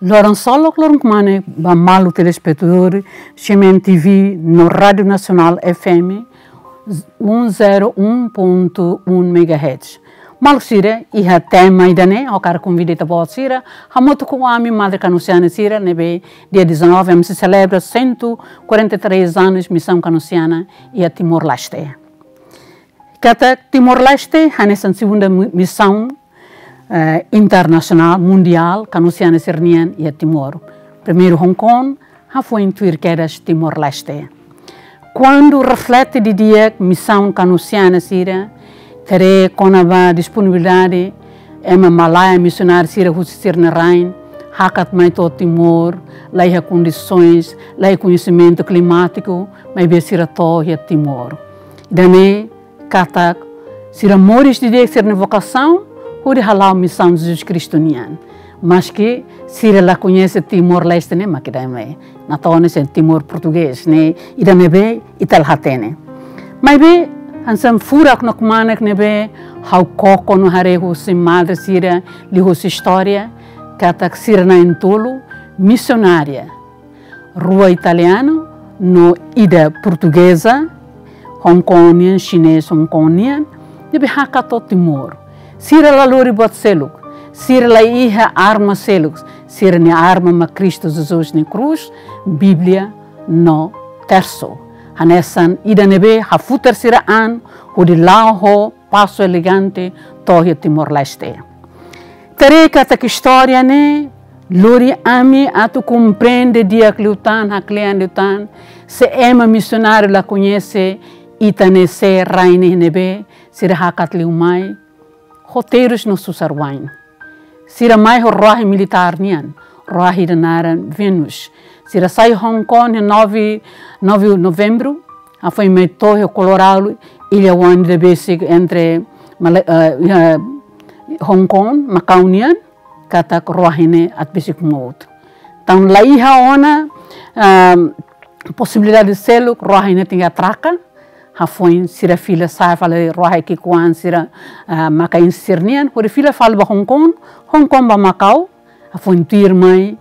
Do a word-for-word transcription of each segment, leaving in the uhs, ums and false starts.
Loron solok, loron kmanek ba maluk telespetadór C M N T V no Rádiu Nasionál F M um zero um ponto um megahertz. Maluk sira, iha tema ida-ne'e, ha'u hakarak konvida ita-boot sira hamutuk ho ami madre kanosiana sira ne'ebé dia dezanove ami sei selebra cento e quarenta e três anos Misaun Kanosiana iha Timor-Leste. Katak Timor-Leste hanesan segunda mi-, misaun, eh, internasionál, mundiál, kanosiana sira-nian iha Timor. Primeiru Hong Kong, hafoin tuir kedas Timor-Leste. Kuandu reflete didi'ak misaun kanosiana sira, haree kona-ba disponibilidade ema malae misionáriu sira husi sira-nia rain, hakat mai to'o Timor, laiha kondisoens, laiha koñesimentu klimátiku, maibé sira to'o iha Timor. Ida-ne'e katak sira moris didi'ak sira-nia vokasaun hodi hala'o misaun Jesus Kristu nian. Maski sira la koñese Timor-Leste ne'e mak ida-ne'e, natoon sei Timor Portugés ne'e, ida ne'ebé ita la hatene. Maibé hanesan furak no kmanek ne'ebé ha'u koko no haree husi madre sira liuhusi istória, katak sira na'in-tolu misionária, rua italianu no ida portugeza, Hong Kong nian, xinés Hong Kong nian, ne'ebé hakat to'o Timor. Sira la lori buat seluk, sira la iha arma seluk, sira-nia arma mak Kristu Jesus nia krús, Bíblia no tersu. Hanesan ida ne'ebé hafutar sira an hodi la'o ho pasu elegante to'o iha Timor-Leste. Haree katak istória ne'e lori ami atu komprende di'ak liután, haklean liután, se ema misionáriu la koñese ita-nia sé rain ne'ebé sira hakat liu mai ho terus no susar-wa'in. Sira mai ho ruahi militár nian, ruahi ida naran Venus. Sira sai Hong Kong iha nove, nove Novembru, hafoin mai to'o iha Colorado, illa-oan ida besik entre Mala-, eh, iha Hong Kong, Macau nian, katak ruahi ne'e atu besik mout. Entaun la iha ona, ah, posibilidade seluk, ruahi ne'e tenke atraka, hafoin sira fila sa'e fali ruahi ki'ikoan sira, ah, Macaense sira-nian, hodi fila fali ba Hong Kong, Hong Kong ba Macau, hafoin tuirmai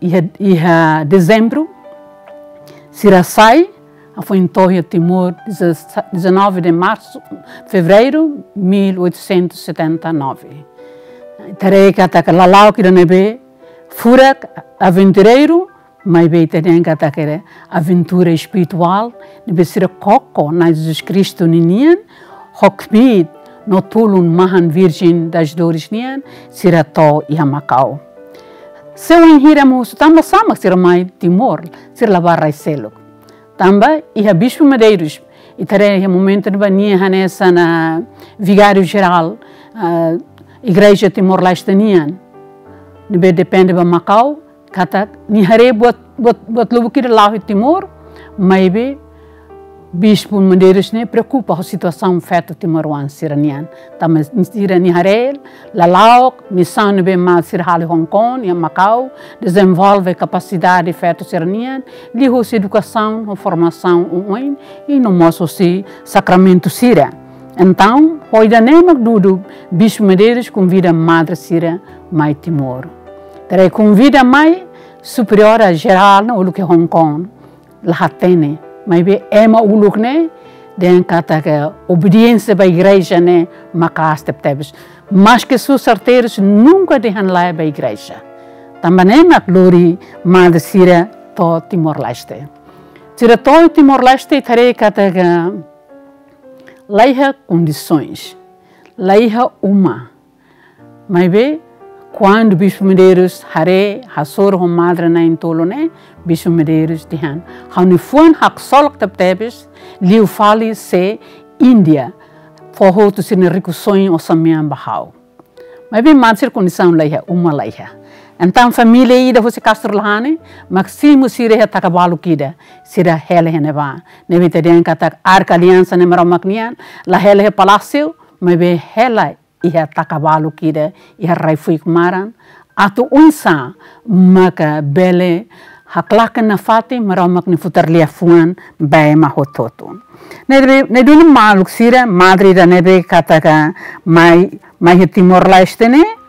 iha, iha Dezembru, sira sai, hafoin to'o iha Timor, dezanove de março, fevereiro, mil oitocentos e setenta e nove. Haree katak lala'ok ida ne'ebé furak, aventureiru, maibé ita dehan katak aventura espirituál, ne'ebé sira koko Na'i Jesus Kristu ninian, ho kbiit no tulun mahan Virgem das Dores nian, sira to'o iha Macau. Se wainhira mak husu tanba sá mak sira mai Timor, sira la bá rai seluk. Tanba iha Bispu Medeiros, ita haree iha momentu ne'ebá nia hanesan vigáriu jerál, ah, Igreja Timor-Leste nian, ne'ebé depende ba Macau, katak nia haree buat, buat, buat lubuk ida la'o iha Timor, maibé Bispu Medeiros ne'e preokupa ho situasaun feto timoroan sira-nian. Tanba sira-nia haree, lala'ok, misaun ne'ebé mak sira halo iha Hong Kong, iha Macau, dezenvolve kapasidade feto sira-nian, liuhusi edukasaun, ho formasaun oioin, i no mós husi sakramentu sira. Entaun, ho ida-ne'e mak dudu, Bispu Medeiros konvida madre sira mai Timor. Haree konvida mai, superiora jerál ne'e uluk iha Hong Kong la hatene, maibé ema uluk ne'e dehan katak obediénsia ba igreja ne'e maka'as tebetebes. Maske susar terus nunka dehan lae ba igreja. Tanba ne'e mak lori madre sira to'o Timor-Leste. Sira to'o Timor-Leste, haree katak laiha kondisoens, laiha uma. Maibé, kuandu Bispu Medeiros haree, hasoru ho madre na'in-tolu ne'e, Bispu Medeiros dehan: Ha'u-nia fuan haksolok tebetebes, liu fali se Índia, fó hotu sira-nia rikusoin osan-mean ba ha'u. Maibé madre sira kondisaun laiha, uma laiha. Entaun família ida husi Castro Lahane mak simu sira iha taka baluk ida, sira hela iha ne'ebá. Ne'ebé ita dehan katak Arka Aliansa ne'e Maromak nian, la hela iha palásiu, maibé hela iha taka baluk ida, iha rai-fuik maran, atu oinsá maka bele haklaken nafatin Maromak nia futar liafuan ba ema hotu-hotu. Ne'ebé, ne'e duni maluk sira, madre ida ne'ebé katak mai, mai iha Timor-Leste ne'e,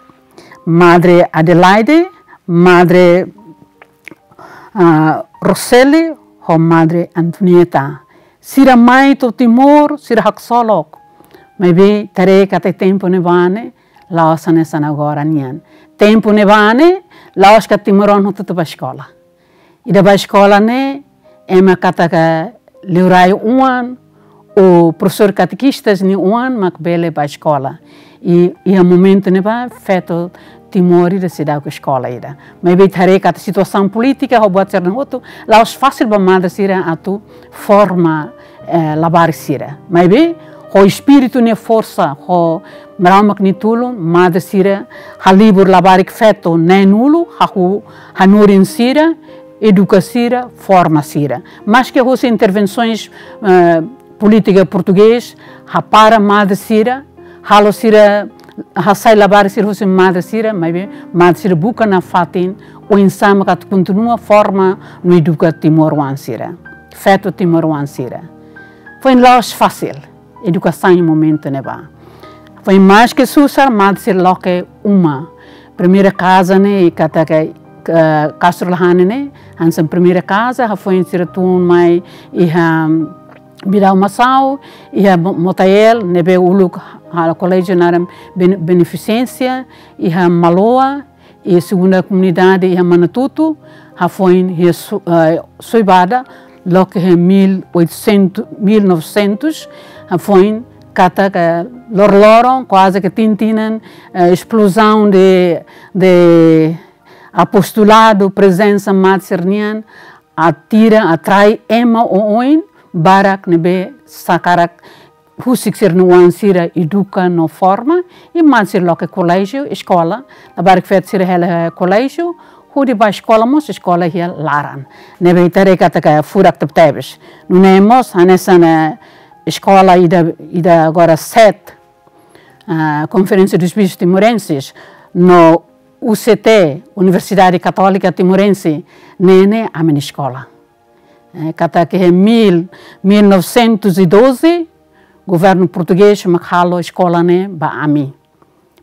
Madre Adelaide Madre, ah, Roseli ho Madre Antonieta. Sira mai to'o Timor, sira haksolok. Maibé ita haree katak tempu ne'ebá ne'e la'ós hanesan agora nian. Tempu ne'ebá ne'e la'ós katak timoroan hotu-hotu bá eskola. Ida bá eskola ne'e, ema katak liurai oan, ou profesór katekista nia oan mak bele bá eskola. I, iha momentu ne'ebá feto Timor ida seidauk eskola ida. Maibé ita haree katak situasaun polítika ho buat sira-ne'e hotu, la'ós fasil ba madre sira atu forma, eh, labarik sira. Maibé ho espíritu nia forsa, ho Maromak nia tulun, madre sira halibur labarik feto neen-nulu, hahú hanorin sira, eduka sira, forma sira. Maske husi intervensoens, eh, polítika portugés, hapara madre sira, halo sira hasai labarik sira husi madre sira, maibé madre sira buka nafatin oinsá mak atu kontinua forma no eduka timoroan sira. Feto timoroan sira. Foin la'ós fasil edukasaun iha momentu ne'ebá. Foin maske susar, madre sira loke uma. Primeira kaza ne'e, katak, eh, Castro Lahane ne'e, hanesan primeira kaza, hafoin sira tun mai iha Bidau Masau, iha Mo-, Motael, ne'ebé uluk halo koléjiu naran Bene-, Beneficência, iha Maloa, i segunda komunidade iha Manatutu, hafoin iha Su-, eh, Soibada, loke iha mil oitocentos, mil novecentos, hafoin katak loroloron, kuaze ke tinan-tinan, eh, esplozaun de, de apostoladu, prezensa madre sira-nian, atira, atrai ema oioin barak ne'ebé hakarak husik sira-nia oan sira eduka no forma, i madre sira loke koléjiu, eskola, labarik feto sira hela koléjiu, hodi bá eskola mós, eskola iha laran. Ne'ebé ita haree katak furak tebetebes. Nune'e mós, hanesan, eh, eskola ida, ida agora SET, ah, Conferência dos Bispos Timorenses, no U C T, Universidade Católica Timorense, ne'e ne'e ami-nia eskola. Eh, katak iha mil, mil novecentos e doze, governu portugés mak halo eskola ne'e ba ami.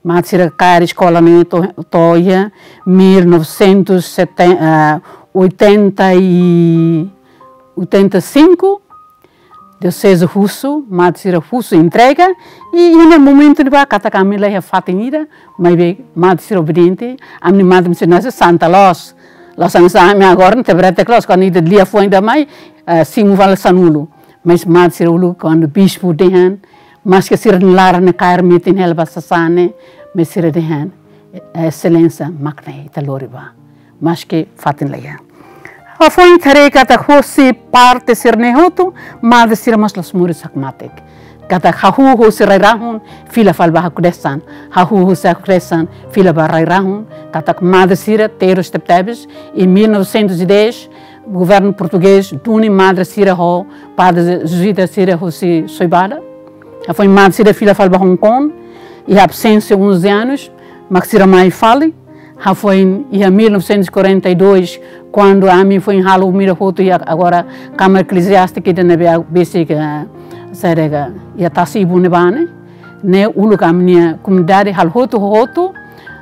Madre sira kaer eskola ne'e to'o, to'o iha mil novecentos e setenta, eh, oitenta e, oitenta e cinco, dioseze husu, madre sira husu entrega, i, i iha momentu ne'ebá katak ami la iha fatin ida, maibé madre sira obediente, ami-nia madre misi nasi Santa Loos. Loos ami sa, ami agora ne'e tebrete close, kuandu ida lia foin ida mai, eh, simu fali sanulu. Mas madre sira uluk kuandu bispu dehan, maske sira-nia laran ne'e kaer metin hela ba sasán ne'e, mas sira dehan, eh, exelénsia, mak ne'e ita lori bá. Maske fatin la iha. Hafoin ita haree katak hosi parte sira-ne'e hotu, madre sira mós la'ós moris hakmatek. Katak hahú husi rai-rahun, fila fali ba hakdesan. Hahú husi hakdesan, fila ba rai-rahun. Katak madre sira terus tebetebes, iha mil novecentos e dez, governu portugés duni madre sira ho padre jezuita sira husi Soibada. Hafoin madre sira fila fali ba Hong Kong, iha absénsia onze anos, mak sira mai fali. Hafoin iha mil novecentos e quarenta e dois, kuandu ami foin halo umida hotu iha agora Câmara Eclesiástica ida ne'ebé besik, eh, saida ka, iha Tasi Ibu ne'ebá ne'e. Ne'e uluk ami-nia komunidade halo hotu, hotu,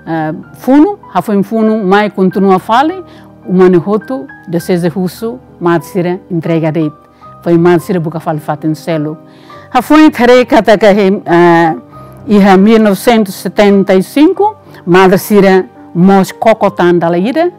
eh, funu, hafoin funu mai kontinua fali, uma ne'e hotu, dioseze husu, madre sira entrega de'it. Foin madre sira buka fali fatin seluk. Hafoin ita haree katak, eh, iha mil novecentos e setenta e cinco, madre sira mós koko tan dala ida,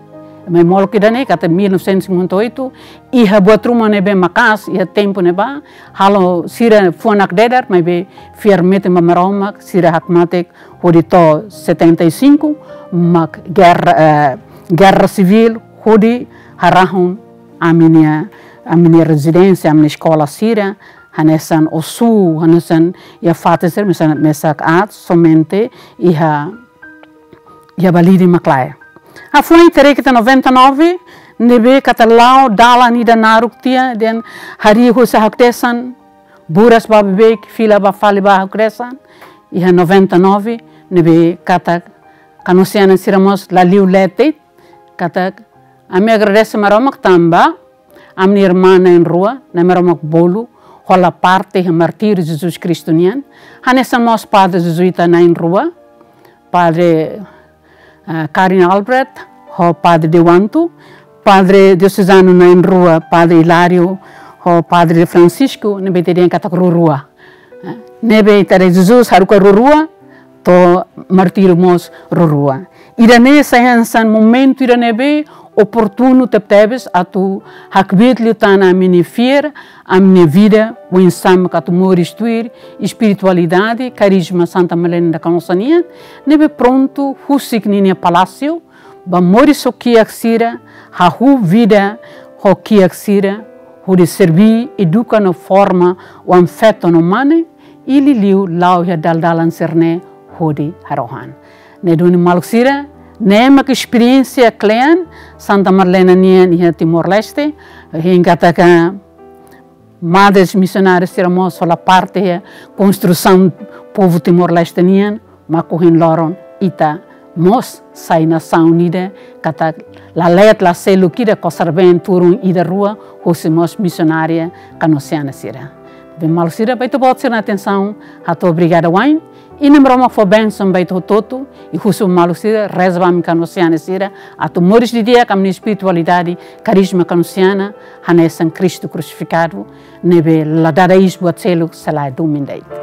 mai molok ida-ne'e katak mil novecentos e cinquenta e oito, iha buat ruma ne'ebé maka'as, iha tempu ne'ebá, halo sira fuan nakdedar, maibé fiar metin ba Maromak, sira hakmatek, hodi to'o setenta e cinco, mak gerra, eh, gerra sivíl, hodi harahun ami-nia, ami-nia rezidénsia, ami-nia eskola sira, hanesan Ossu, hanesan iha fatin sira, mesak, mesak aat, somente iha, iha Balide mak lae. Hafoin ita haree katak noventa e nove, ne'ebé katak la'o dalan ida naruk tiha, dehan harii husi hakdesan, buras ba beibeik, fila ba fali ba hakdesan, iha noventa e nove, ne'ebé katak, kanosiana sira mós la liu leten, katak, ami agradese Maromak tanba, ami-nia irmán na'in-rua, Na'i Maromak bolu, hola parte iha martíriu Jesus Kristu nian, hanesan mós padre jezuita na'in-rua, padre, eh, Karin Albrecht, ho Padre Dewantu, Padre Diosezanu na'in rua, Padre Hilário, ho Padre Francisco, ne'ebé ita dehan katak rua-rua. Ne'ebé ita haree Jesus haruka rua-rua, to'o martíriu mós rua-rua. Ida-ne'e sai hanesan momentu ida ne'ebé oportunu tebetebes atu hakbiit liután ami-nia fiar, ami-nia vida, oinsá mak atu moris tuir espiritualidade, karizma Santa Madalena da Canossa nian, ne'ebé prontu husik ninia palásiu, ba moris ho kiak sira, hahú vida ho kiak sira, hodi serbí, eduka no forma oan-feto no mane, i liuliu la'o iha dalan-dalan sira-ne'e hodi harohan. Ne'e duni maluk sira, ne'e mak esperiénsia kle'an Santa Madalena nian iha Timor-Leste, hein katak madres misionárias sira mós hola parte iha konstrusaun povu Timor-Leste nian, mak ohin loron ita mós sai nasaun ida, katak la leet la seluk ida, kosar-been turun ida rua, husi mós misionária kanosiana sira. Ne'ebé maluk sira, ba ita-boot sira-nia atensaun, hato'o obrigada wa'in, i Nai Maromak fó bensaun ba ita hotu-hotu, i husu maluk sira, reza ba ami kanosiana sira, atu moris didi'ak ami-nia espiritualidade, karizma kanosiana, hanesan Kristu krusifikadu, ne'ebé la dada iis buat seluk se lae domin de'it.